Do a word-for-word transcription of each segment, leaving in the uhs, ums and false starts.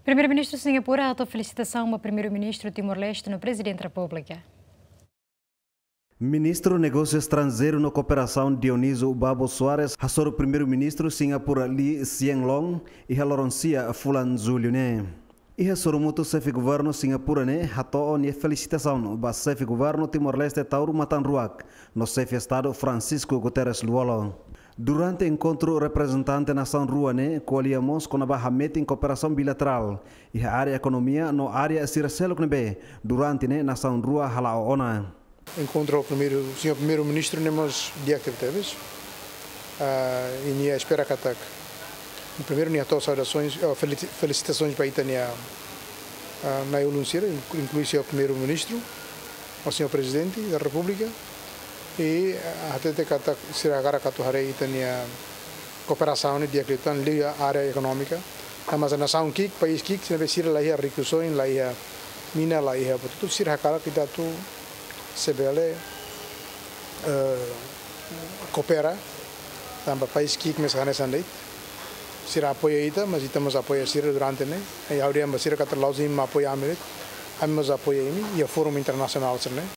Primeiru-Ministru Singapura hato'o felisitasaun ba Primeiru-Ministru Timor-Leste no Prezidente Repúblika. Ministru Negósiu Estranjeiru no Kooperasaun Dionísio Babo Soares hasoru Primeiru-Ministru Singapura Lee Hsien Loong iha loron sia fulan Jullu ne'e. Iha sorumutu, xefe governu Singapura ne'e hato'o nia felisitasaun ba xefe governu Timor-Leste Taur Matan Ruak no xefe Estadu Francisco Guterres Lú-Olo. Durante enkontru, reprezentante nasaun rua ne'e ko'alia mós kona-ba hametin kooperasaun bilaterál iha área ekonomia no área sira seluk ne'ebé durante ne'e nasaun rua hala'o ona. Enkontru ho primeiru, señór Primeiru-Ministru ne'e mós di'ak tebetebes. Ah, i nia espera katak, primeiru, nia hato'o saudasoens, oh, feli-, felisitasoens ba ita-nia, ah, na'i-ulun sira, inklu-, inklui señór Primeiru-Ministru, ho señór Prezidente da Repúblika, i, ah, hatete katak sira hakarak atu haree ita-nia kooperasaun ne'e di'ak liután liga área ekonómika. Tanba sá, nasaun ki'ik, país ki'ik, se ne'ebé sira la iha rikusoin, la iha mina, la iha buat hotu, sira hakarak ita atu se bele, eh, koopera, tanba país ki'ik mesak hanesan de'it. Sira apoia ita, mas ita mós apoia sira durante ne'e. I ha'u dehan ba sira katak la'ós imi mak apoia ami de'it, ami mós apoia imi iha fórum internasionál sira-ne'e.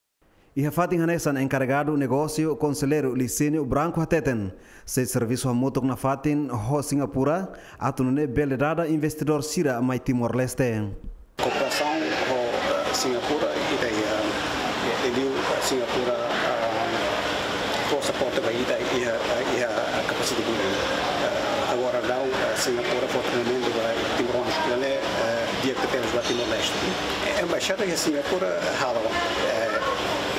Iha fatin hanesan, enkarregadu negósiu, konselleiru Licínio Branco hateten, sei servisu hamutuk nafatin ho Singapura atu nune'e bele dada investidór sira mai Timor-Leste. Kooperasaun ho, eh, Singapura, ita iha, eh, liuliu, eh, Singapura, eh, fó suporte ba ita iha, eh, iha kapasita building. Eh, agora daudaun, eh, Singapura fó treinamentu ba timoroan, ne'e, eh, di'ak tebes ba Timor-Leste. Eh, embaixada iha Singapura halo, eh,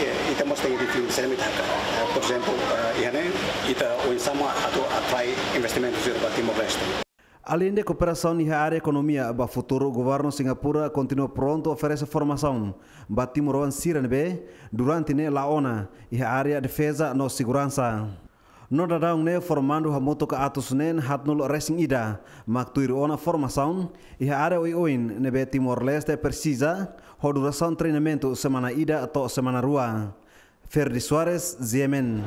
eh, ita mós tenke define saida mak ita hakarak. Eh, por ezemplu, eh, iha ne'e, ita oinsá mak atu atrai investimentu sira ba Timor-Leste. Aleinde kooperasaun iha área ekonomia, ba futuru governu Singapura kontinua prontu oferese formasaun ba timoroan sira ne'ebé durante ne'e la'o ona iha área defeza no seguransa. No daudaun ne'e formandu hamutuk atus neen haatnulu resin ida mak tuir ona formasaun iha área oioin ne'ebé Timor-Leste presiza, ho durasaun treinamentu semana ida to'o semana rua. Ferdi Soares, G M N.